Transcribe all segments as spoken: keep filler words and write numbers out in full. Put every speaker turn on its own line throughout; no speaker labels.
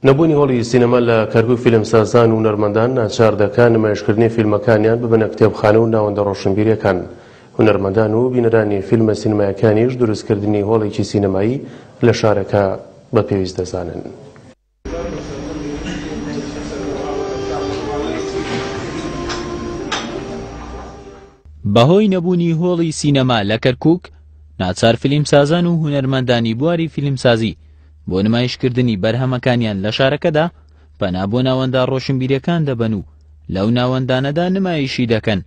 نەبوونی هۆڵی سینەما لە کەرکوک فیلمسازان و هونەرمەندان ناچار دەکات نمایشکردنی فیلمەکانیان ببنە کتێبخانە و ناوەندە ڕۆشنبیریەکان. هونەرمەندان و بینەرانی فیلمە سینەمایەکانیش دروستکردنی هۆڵێکی سینەمایی لە شارەکە بە پێویست دەزانن.
بەهۆی نەبوونی هۆڵی سینەما لە کەرکوک، ناچار فیلمسازان و هونەرمەندانی بواری فیلمسازی بۆ نمایشکردنی بەرهەمەکانیان لە شارەکەدا پەنا بۆ ناوەندە ڕۆشنبیریەکان دەبەن و لەو ناوەندانەدا نمایشی دەکەن.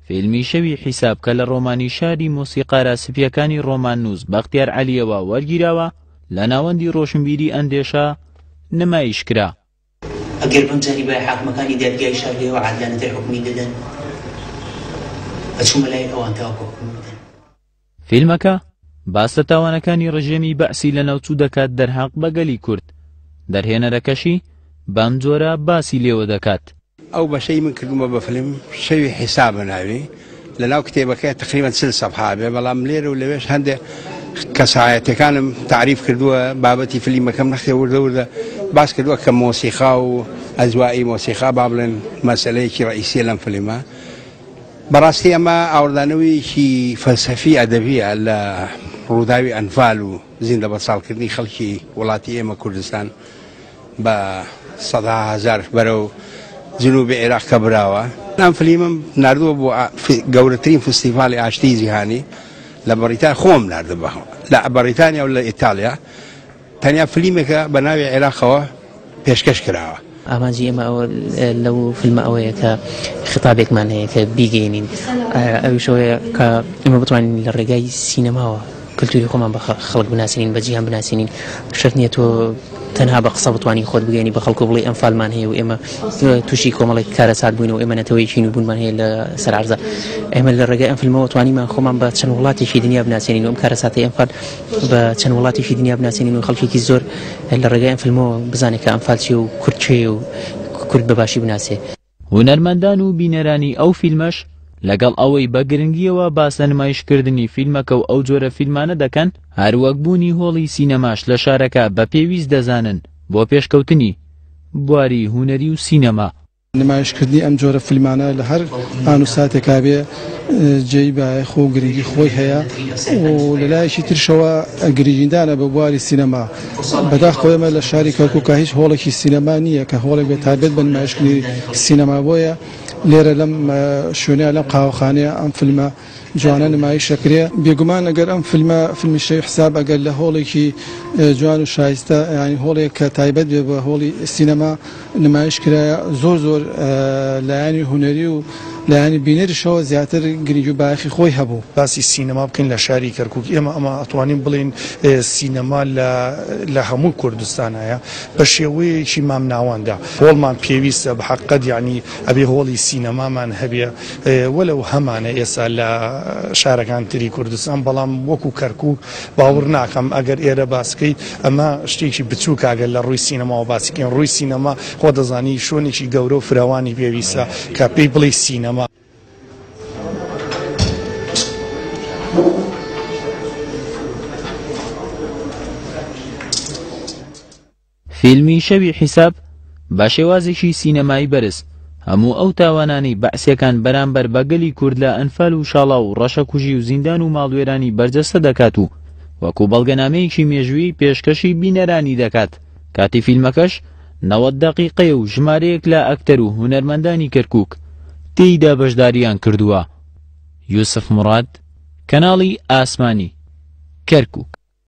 فیلمی شەوی حیساب کە لە ڕۆمانی شاری مۆسیقارە سپیەکانی ڕۆماننووس بەختیار عەلیەوە وەرگیراوە لە ناوەندی ڕۆشنبیری ئەندێشە نمایش کرا.
ئەگەر بمزانی بای حاکمەکانی دادگای شار لێوە عادلانەتر حکومی دەدەن، ئەچوومە لای ئەوان تاوەکو حکومی بدەن.
فیلمەکە باس لە تاوانەکانی ڕژێمی بەعسی لە ناوچوو دەکات دەرحەق بە گەلی کورد، دەرهێنەرەکەشی بەم جۆرە باسی لێوە دەکات.
ئەو بەشەی من کردومە بە فیلم شەوی حیسابە ناوی، لەناو کتێبەکەی تقریبا چل سەفحە بێ، بەڵام لێرە و لەوێش هەندێک کەسایەتەکانم تعریف کردووە، بابەتی فیلمەکەم نەختێ وردە وردە باس کردووە کە مۆسیقا و ئەزوایی مۆسیقا با بڵێن مەسەلەیەکی ڕئیسیە لەم فیلمە. بەڕاستی ئەمە ئاوردانەوەیەکی فەلسەفی ئەدەبیە لە ڕووداوی ئەنفال و زیندە بەساڵکردنی خەڵکی وڵاتی ئێمە کوردستان بە سەدا هەزار بەرەو جنوبی عێراق کە براوە. ئەم فیلمم ناردووە بۆ گەورەترین فستیڤالی ئاشتی جیهانی لە بەریتانیا، خۆم ناردووە لە بەریتانیا و لە ئیتالیا. تەنیا فیلمێکە بە ناوی عێراقەوە پێشکەش کراوە.
ئامانجی ئێمە لەو فیلمە ئەوەیە کە خطابێکمان هەیە کە بیگەینین، ئەویش ئەوەیە کە ئێمە بتوانین لە ڕێگای سینەماوە کلتوری خۆمان بە خەڵک بناسێنین، بە جیهان بناسێنین. شەرت نییە تۆ تەنها بە قسە بتوانین خۆت بگەینی بە خەڵکو بڵێ ئەنفالمان هەیە و ئێمە تووشی کۆمەڵێک کارەسات بووین و ئێمە نەتەوەیەکی نووبوونمان هەیە لە سەر عەرزە. ئێمە لە ڕێگای ئەم فیلمەوە توانیمان خۆمان بە چەند وڵاتێکی دنیا بناسێنین و ئەم کارەساتەی ئەنفال بە چەند وڵاتێکی دنیا بناسێنین و خەڵکێکی زۆر لە ڕێگای ئەم فیلمەوە بزانێت کە ئەنفال چییە و کورد کێیە و کورد بە باشی بناسێ.
هونەرمەندان و بینەرانی ئەو فیلمەش لەگەڵ ئەوەی بە گرنگیەوە باس لە نمایشکردنی فیلمەکە و ئەو جۆرە فیلمانە دەکەن، هەروەک بوونی هۆڵی سینەماش لە شارەکە بە پێویست دەزانن بۆ پێشکەوتنی بواری هونەری و سینەما.
نمایشکردنی ئەم جۆرە فیلمانە لە هەر ئان و ساتێکا بێ جێی بایەخ و گرنگی خۆی هەیە و لەلایەکی ترشەوە گرنگیدانە بە بواری سینەما. بەداخەوە ئێمە لە شاری کەرکووکا هیچ هۆڵێکی سینەما نییە کە هۆڵێک بێت تایبەت بە نمایشکردنی سینەما، بۆیە لێرە لەم شوێنەیە لەم قاوەخانەیە ئەم فیلمە جوانە نمایش دەکرێ. بێگومان ئەگەر ئەم فیلمە فیلمی شەوی حساب ئەگەر لە هۆڵێکی جوان و شایستە، یعنی هۆڵێک کە تایبەت بێ بە هۆڵی سینەما نمایش کرایە، زۆر زۆر لایەنی هونەری و لایەنی بینەریشەوە زیاتر گرنگی و بایەخی خۆی هەبوو.
باسی سینەما بکەین لە شاری کەرکوک، ئێمە ئەمە ئەتوانین بڵێین سینەما لە هەموو کوردستانایە بە شێوەیەکی مامناوەندە. هۆڵمان پێویستە بە حەقیقەت، یعنی ئەبێ هۆڵی سینەمامان هەبێ، وەلەو هەمانە ئێستا لە شارەکان تری کوردستان، بەڵام وەکو کەرکوک باوەڕ ناکەم ئەگەر ئێرە باسکەی ئەمە شتێکی بچووکە ئەگەر لە ڕووی سینەماوە باسیکەین. ڕووی سینەما خۆ دەزانی شوێنێکی گەورە و فراوانی پێویستە کە پێی بڵێ سینەما.
فیلمی شەوی حیساب بە شێوازێکی سینەمایی بەرز هەموو ئەو تاوانانەی بەعسیەکان بەرامبەر بە گەلی کورد لە ئەنفال و شاڵا و ڕەشەکوژی و زیندان و ماڵوێرانی بەرجەستە دەکات و وەکو بەڵگەنامەیەکی مێژوویی پێشکەشی بینەرانی دەکات. کاتی فیلمەکەش نەوەد دەقیقەیە و ژمارەیەک لە ئەکتەر و هونەرمەندانی کەرکوک تێیدا بەشداریان کردووە. یوسف مراد، کەناڵی ئاسمانی، کەرکوک.